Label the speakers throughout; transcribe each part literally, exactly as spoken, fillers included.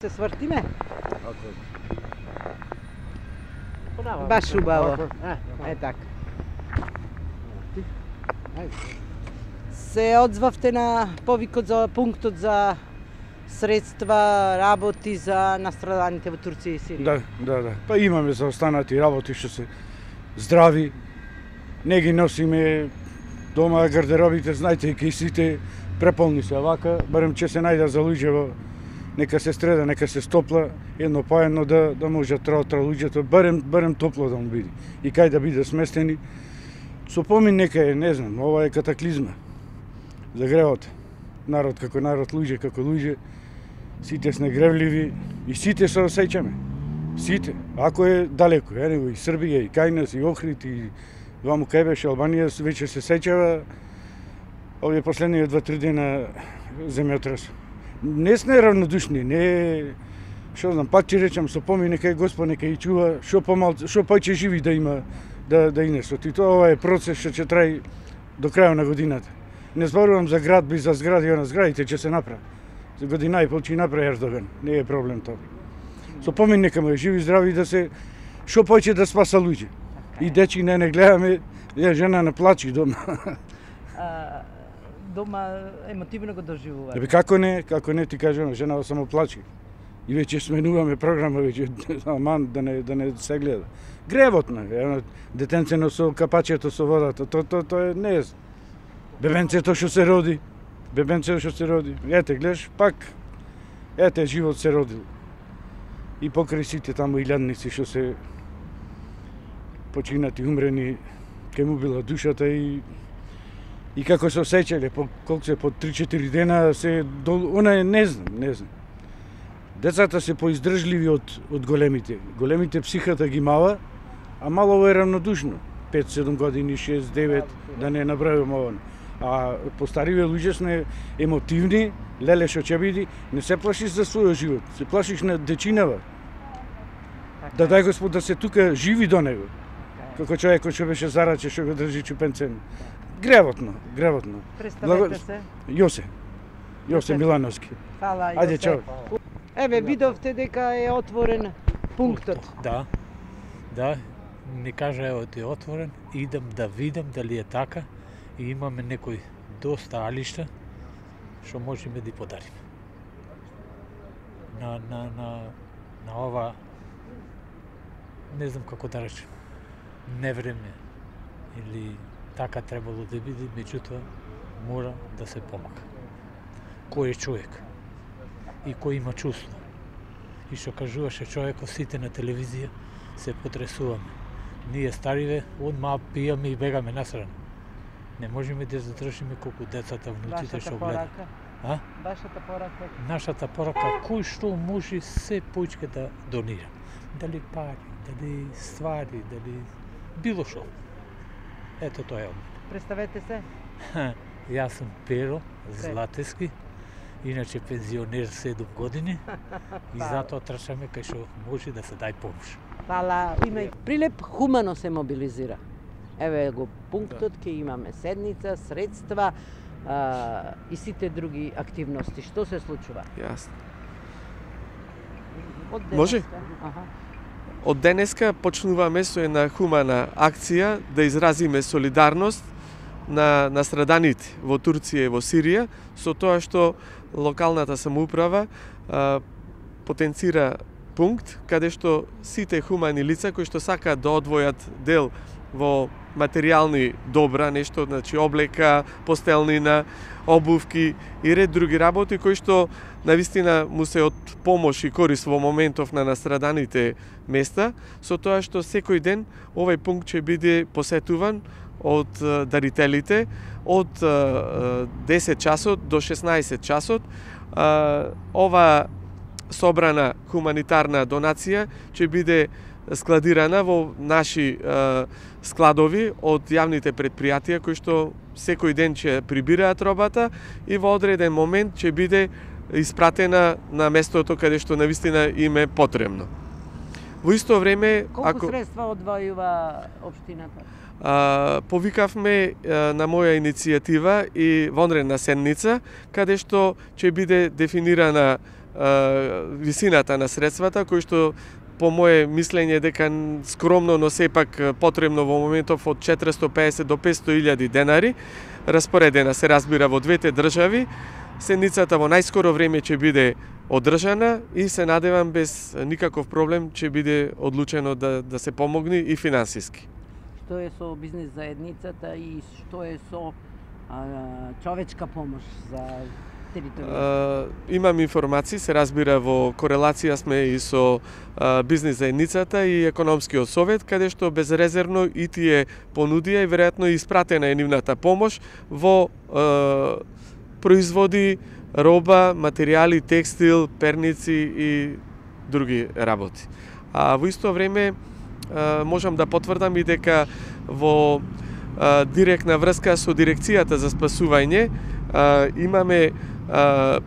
Speaker 1: Се свртиме? Баш убаво. Е така. Се одзвавте на повикот за пунктот за средства, работи за настраданите во Турција и Сирија.
Speaker 2: Да, да, да. Па имаме за останати работи што се здрави. Не ги носиме дома гардеробите, знаете, и сите преполни се вака, барем че се најда за луѓе во нека се стреда, нека се стопла, едно по едно да да може тра тра луѓето, барем барем топло да му биде. И кај да биде сместени. Со помин нека е, не знам, ова е катаклизма за гревот. Народ како народ, луѓе како луѓе, сите сме гревливи и сите се осеќаме. Сите. Ако е далеко, е, и Србија, и кај нас, и Охрид, и ваму кај беше Албанија, веќе се сеќава овие последни два-три дена земјотрес. Не сме равнодушни, не што знам, пак ќе речам со помин нека Господ нека и чува, што помал, што повеќе живи да има да да инесот. И тоа ова е процес што ќе траи до крајот на годината. Не зборувам за град, би за згради, она зградите ќе се направи. За година и пол ќе направи Ердоган, не е проблем тоа. Со помин нека му е живи здрави да се што повеќе да спаса луѓе. И дечи не не гледаме, ја жена не плачи дома.
Speaker 1: А, дома емотивно го доживува.
Speaker 2: Ебе како не, како не ти кажам, жена само плачи. И веќе сменуваме програма, веќе аман да не да не се гледа. Гревот на, е, детенцено со капачето со водата, то то то е не е. Бебенцето што се роди, бебенцето што се роди. Ете, гледаш, пак ете живот се родил. И покрај сите таму илјадници што се починати, умрени, ке му била душата и и како се осеќале, по колку се по три-четири дена се дол... она е не знам, не знам. Децата се поиздржливи од од големите. Големите психата ги мала, а малово е равнодушно. пет-седум години, шест-девет, да не набравам ова. А постариве луѓе сме емотивни, леле што ќе биде, не се плашиш за својот живот, се плашиш на дечинава. Да дај Господ да се тука живи до него. Како човекот што беше зараче, што го држи чупенцен. Гревотно, гревотно.
Speaker 1: Представете се.
Speaker 2: Јосе. Јосе Милановски.
Speaker 1: Фала, Јосе.
Speaker 2: Ајде, чао.
Speaker 1: Еве, видовте дека е отворен пунктот.
Speaker 3: Да, да, ми кажа евот е отворен, идам да видам дали е така и имаме некои доста алишта што можеме да подариме. На, на, на, на ова, не знам како да речем, невреме или така требало да биде, меѓутоа мора да се помага. Кој е човек и кој има чувство. И што кажуваше човекот, сите на телевизија се потресуваме. Ние стариве, одма пијаме и бегаме насрана. Не можеме да задржиме колку децата, внуците што гледаат. А?
Speaker 1: Вашата порака?
Speaker 3: Нашата порака, кој што може се поичке да донира. Дали пари, дали ствари, дали било што. Ето тоа е.
Speaker 1: Представете се.
Speaker 3: Јас сум Pero Златевски, иначе пензионер седум години и затоа трчаме кај што може да се дај помош.
Speaker 1: Фала, има Прилеп хумано се мобилизира. Еве го пунктот, ќе имаме седница, средства а, и сите други активности. Што се случува?
Speaker 4: Јасно.
Speaker 1: Од
Speaker 4: Може?
Speaker 1: Аха.
Speaker 4: Од денеска почнуваме со една хумана акција да изразиме солидарност на настраданите во Турција и во Сирија со тоа што локалната самоуправа а, потенцира пункт каде што сите хумани лица кои што сакаат да одвојат дел во материјални добра, нешто, значи облека, постелнина, обувки и ред други работи кои што навистина му се од помош и корист во моментов на настраданите места, со тоа што секој ден овој пункт ќе биде посетуван од дарителите од десет часот до шеснаесет часот. Ова собрана хуманитарна донација ќе биде складирана во наши е, складови од јавните предпријатија кои што секој ден ќе прибираат робата и во одреден момент ќе биде испратена на местото каде што навистина им е потребно. Во исто време,
Speaker 1: колку
Speaker 4: ако
Speaker 1: средства одвојува општината?
Speaker 4: А, повикавме а, на моја иницијатива и вонредна седница, каде што ќе биде дефинирана висината на средствата, кои што по моje мислење дека скромно, но сепак потребно во моментов од четиристо пеесет до петсто илјади денари, распоредена се разбира во двете држави. Седницата во најскоро време ќе биде одржана и се надевам без никаков проблем ќе биде одлучено да, да се помогне и финансиски.
Speaker 1: Што е со бизнес заедницата и што е со а, човечка помош за територија?
Speaker 4: Имам информации, се разбира во корелација сме и со а, бизнес заедницата и економскиот совет, каде што безрезервно и тие понудија и веројатно испратена е нивната помош во а, производи, роба, материјали, текстил, перници и други работи. А во исто време можам да потврдам и дека во директна врска со дирекцијата за спасување имаме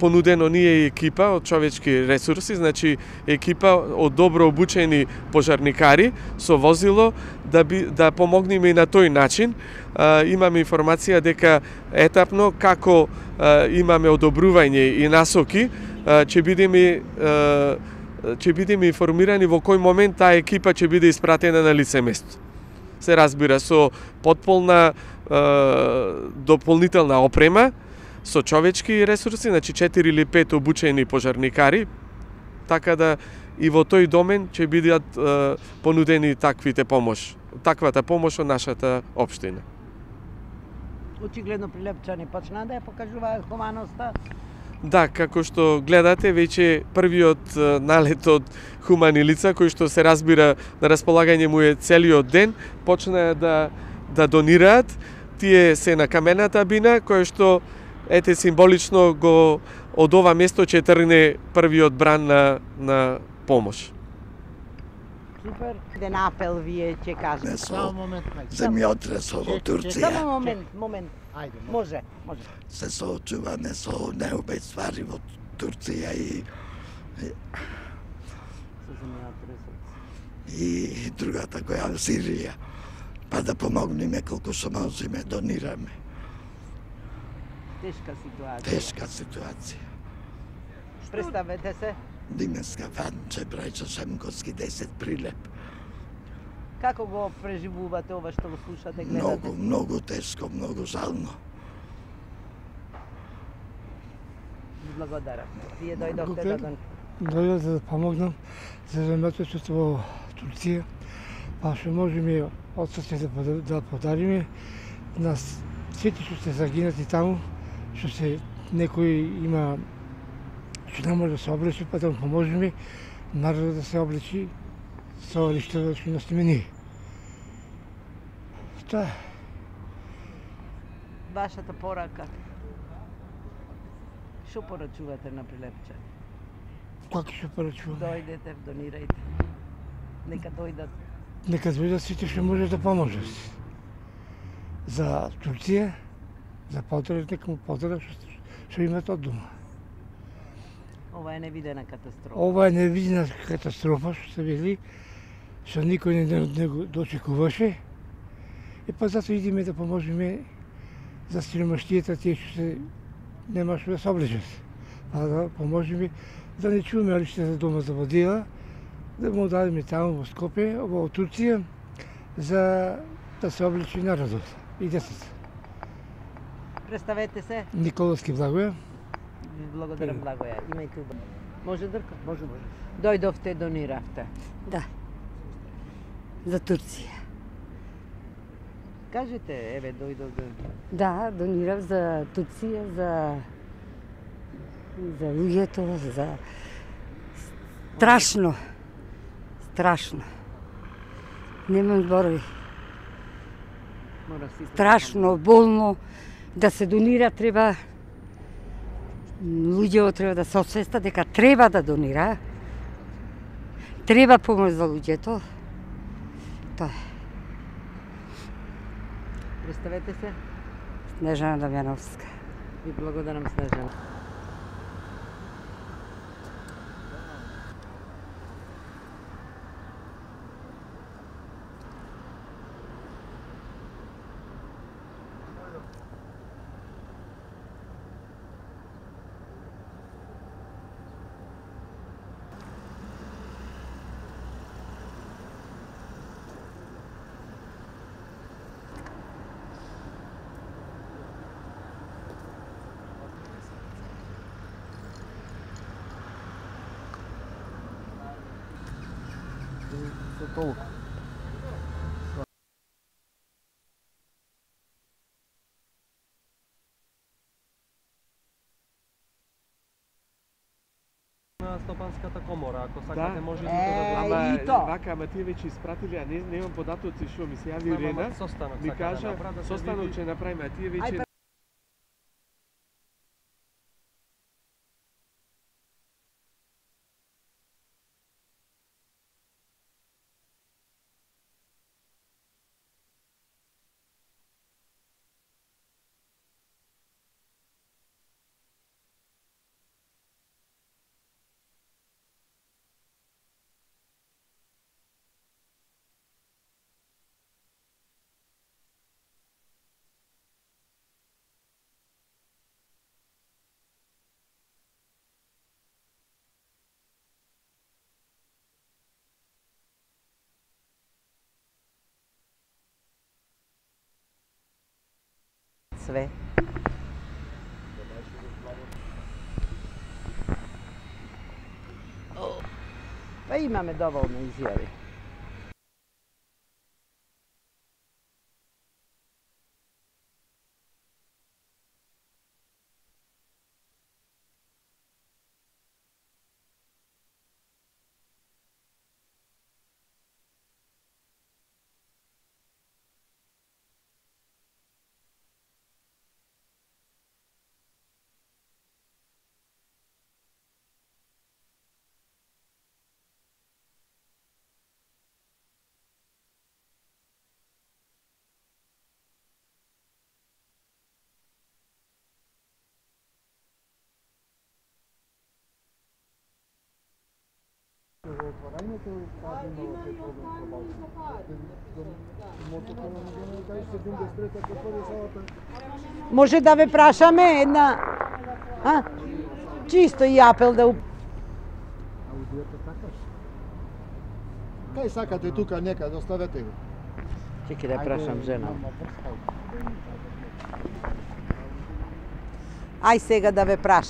Speaker 4: понудено ние и екипа од човечки ресурси, значи екипа од добро обучени пожарникари со возило да би да помогнеме и на тој начин. Имаме информација дека етапно како имаме одобрување и насоки, ќе бидеме ќе бидеме информирани во кој момент таа екипа ќе биде испратена на лице место. Се разбира со потполна дополнителна опрема, со човечки ресурси, значи четири или пет обучени пожарникари, така да и во тој домен ќе бидат е, понудени таквите помош, таквата помош од нашата општина.
Speaker 1: Очигледно Прилепчани почнаа да ја покажуваат хуманоста.
Speaker 4: Да, како што гледате, веќе првиот налет од хумани лица, кој што се разбира на располагање му е целиот ден, почнаа да да донираат. Тие се на камената бина, која што ете символично го од ова место ќе тргне првиот бран на на помош.
Speaker 1: Супер. Ден апел вие ќе кажете.
Speaker 5: Само момент. Земјотресот во Турција.
Speaker 1: Само момент, момент. Ајде, може, може.
Speaker 5: Се соочуваме со неубави ствари во Турција и и другата која во Сирија. Па да помогнеме колку што можеме, донираме.
Speaker 1: Тешка ситуација.
Speaker 5: Тешка ситуација.
Speaker 1: Представете се.
Speaker 5: Димеска Фанче, Брајчо Шемковски, десет Прилеп.
Speaker 1: Како го преживувате ова што го слушате, гледате?
Speaker 5: Многу, многу тешко, многу жално.
Speaker 1: Благодарам. Вие дојдовте да дон...
Speaker 6: Дојдов да помогнам за земјотресот во Турција, па што можеме отсоце да, да подариме на сите што се загинати таму, што се некој има што не може да се облечи, па да му поможеме народот да се облечи со лиштето што носиме ние. Тоа.
Speaker 1: Вашата порака. Што порачувате на Прилепчани?
Speaker 6: Како што порачуваме?
Speaker 1: Дојдете, донирајте. Нека дојдат.
Speaker 6: Нека дојдат сите што може да поможат. За Турција, за потреб, нека му потреб што, што имат од дома.
Speaker 1: Ова е невидена катастрофа.
Speaker 6: Ова е невидена катастрофа што се вели, што никој не, не го дочекуваше. И па затоа идеме да поможеме за сиромаштијата, тие што се нема што да се облечат. Па да поможеме да не чуваме лиште за дома за водила, да му дадеме таму во Скопје, во Турција, за да се облечи народот и децата.
Speaker 1: Представете се.
Speaker 6: Николовски Благоја.
Speaker 1: Благодарам, Благоја. Имајте убаво. Може, Дрка? Може, може. Дојдовте, дониравте.
Speaker 7: Да. За Турција.
Speaker 1: Кажете, еве, дојдов да...
Speaker 7: Да, донирав за Турција, за за луѓето, за страшно. Страшно. Немам зборови.
Speaker 1: Мора си...
Speaker 7: Страшно, болно. Да се донира треба, луѓето треба да се освестат дека треба да донира. Треба помош за луѓето. Тоа е.
Speaker 1: Представете се.
Speaker 7: Снежана Дамјановска.
Speaker 1: Ви благодарам, Снежана.
Speaker 8: со толку.
Speaker 9: На Стопанската комора, ако сакате
Speaker 4: Да.
Speaker 9: може да
Speaker 1: Е,
Speaker 9: го
Speaker 4: Ама
Speaker 1: и то.
Speaker 4: вака, ама тие веќе испратиле, а не немам податоци што ми се јави
Speaker 9: Ама,
Speaker 4: Ирена.
Speaker 9: состанок
Speaker 4: Ми
Speaker 9: сака да
Speaker 4: кажа,
Speaker 9: направи, да се
Speaker 4: состанок
Speaker 9: види.
Speaker 4: ќе направиме, а тие
Speaker 1: Ај,
Speaker 4: веќе
Speaker 1: Све. Па имаме доволно изјави. Може да ве прашаме една, а? Чисто и апел да уп...
Speaker 8: Кај сакате тука некаде, оставете го.
Speaker 1: Чеки да прашам жена. Ај сега да ве прашам.